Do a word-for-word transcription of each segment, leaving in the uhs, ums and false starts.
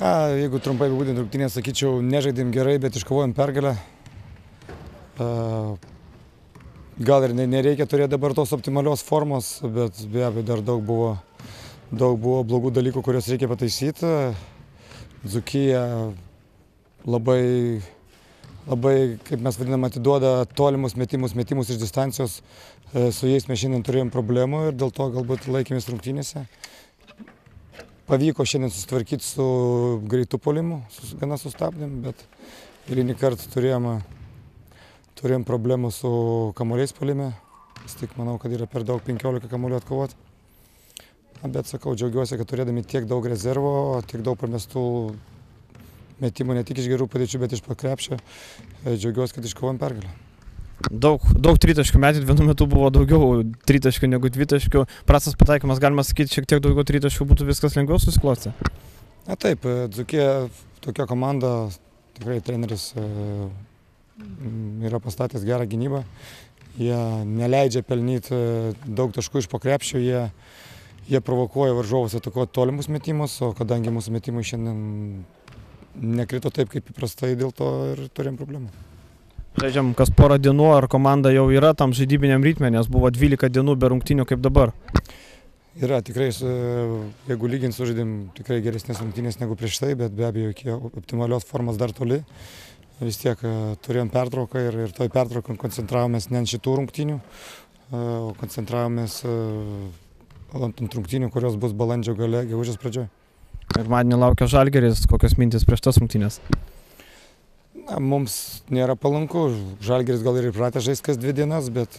Na, jeigu trumpai apibūdint rungtynes, sakyčiau, nežaidėm gerai, bet iškovojom pergalę. Gal ir nereikia turėti dabar tos optimalios formos, bet be abejo dar daug buvo, daug buvo blogų dalykų, kuriuos reikia pataisyti. Dzūkija labai, labai, kaip mes vadinam, atiduoda tolimus metimus, metimus iš distancijos. Su jais mes šiandien turėjom problemų ir dėl to galbūt laikėmės rungtynėse. Pavyko šiandien susitvarkyti su greitu puolimu, gana sustabdėm, bet eilinį kartą turėjom, turėjom problemų su kamuoliais puolime. Vis tik manau, kad yra per daug penkiolika kamuolių atkovoti. Bet sakau, džiaugiuosi, kad turėdami tiek daug rezervo, tiek daug pramestų metimų ne tik iš gerų padėčių, bet iš pakrepšio. Džiaugiuosi, kad iškovojom pergalę. Daug, daug tritaškių metėt, vienu metu buvo daugiau tritaškių negu dvitaškių. Prastas pataikymas, galima sakyti, šiek tiek daugiau tritaškių būtų viskas lengviau susiklostę? Na taip, Dzūkija tokia komanda, tikrai treneris yra pastatęs gerą gynybą. Jie neleidžia pelnyti daug taškų iš po krepšio, jie, jie provokuoja varžovus atakuoti tolimus metimus, o kadangi mūsų metimai šiandien nekrito taip, kaip įprastai, dėl to ir turėjom problemų. Žaidžiam kas porą dienų, ar komanda jau yra tam žaidybiniam ritme, nes buvo dvylika dienų be rungtynių kaip dabar? Yra, tikrai, jeigu lygint sužaidėm tikrai geresnės rungtynės negu prieš tai, bet be abejo iki optimalios formos dar toli. Vis tiek turėjom pertrauką ir, ir toj pertrauką koncentravomės ne ant šitų rungtynių, o koncentravomės ant rungtynių, kurios bus balandžio gale, gegužės pradžioj. Pirmadienį laukia Žalgiris, kokios mintys prieš tas rungtynes? Na, mums nėra palanku, Žalgiris gal ir įpratęs žaisti kas dvi dienas, bet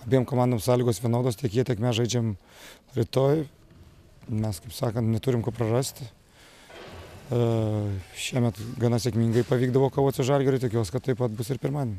abiem komandom sąlygos vienodos, tiek jie, tiek mes žaidžiam rytoj. Mes, kaip sakant, neturim ko prarasti. Šiemet gana sėkmingai pavykdavo kovoti su Žalgiriu, tikiuosi, kad taip pat bus ir pirmadienį.